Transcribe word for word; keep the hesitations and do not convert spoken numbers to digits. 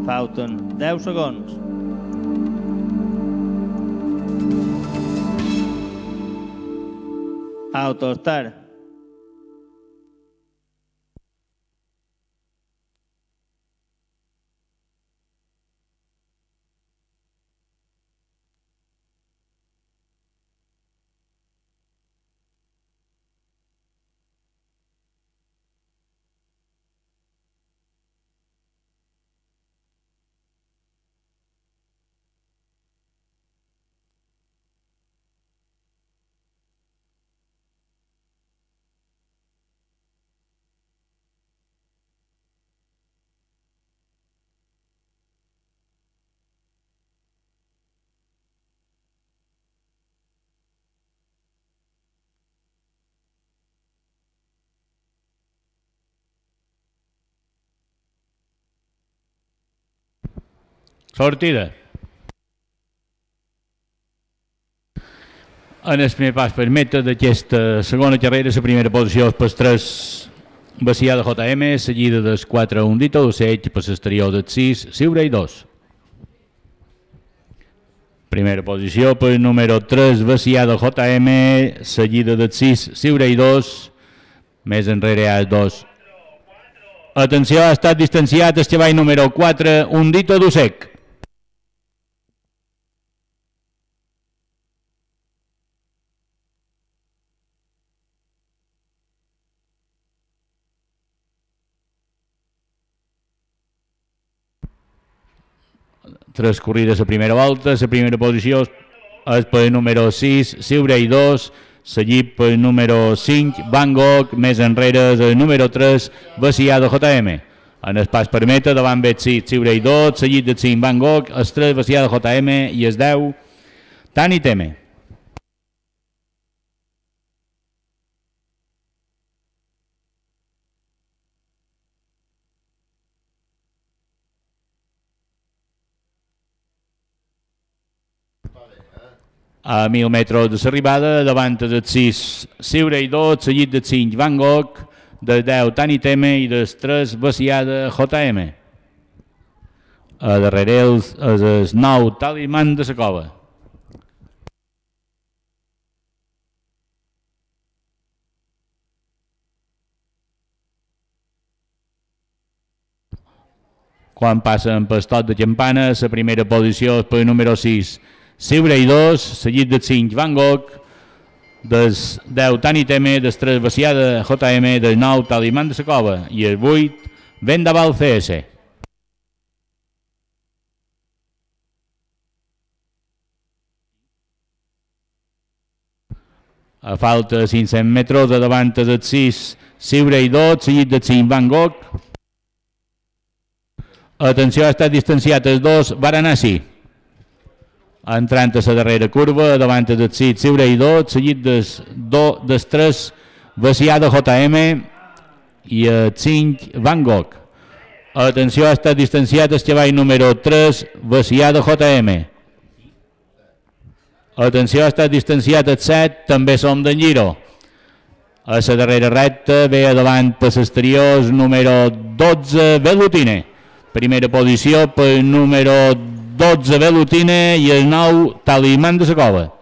Falten deu segons. Autostar. Sortida. En el primer pas per meta d'aquesta segona carrera, la primera posició és per tres Bacià de J M, seguida del quatre Hundito d'Ocells, per l'exterior del sis Siure i dos. Primera posició per número tres Bacià de J M, seguida del sis Siure i dos, més enrere hi ha el dos. Atenció, ha estat distanciat el cavall número quatre Hundito d'Ocells. Tres corrides a primera volta, la primera posició és per número sis, Siure i dos, seguit per número cinc, Van Gogh, més enrere el número tres, Bacià de J M. En el pas per meta, davant ve el sis, Siure i dos, seguit del cinc, Van Gogh, el tres, Bacià de J M i el deu, Tani Teme. A mil metres de l'arribada, davant del sis, Siure i dos, seguit del cinc, Van Gogh, del deu, Tani Teme i del tres, Bacià de J M. A darrere és el nou, Talisman de la Cova. Quan passen pel tot de campana, la primera posició és per número sis, Siure i dos, seguit del cinc, Van Gogh, del deu, Tani Teme, del tres, Bacià de J M, del nou, Talisman de la Cova i el vuit, Vendaval C S. A falta de cinc-cents metres, de davant del sis, Siure i dos, seguit del cinc, Van Gogh. Atenció, ha estat distanciat els dos, Varanasi. Entrant a la darrera curva, davant del sis, Siure i dos, seguit del tres, Bacià de J M i el cinc, Van Gogh. Atenció, ha estat distanciat el cavall número tres, Bacià de J M. Atenció, ha estat distanciat el set, també som d'en Giro. A la darrera recta ve davant per l'exterior número dotze, Velutine. Primera posició per número dotze, Velutine i el nou, Talisman de la Cova.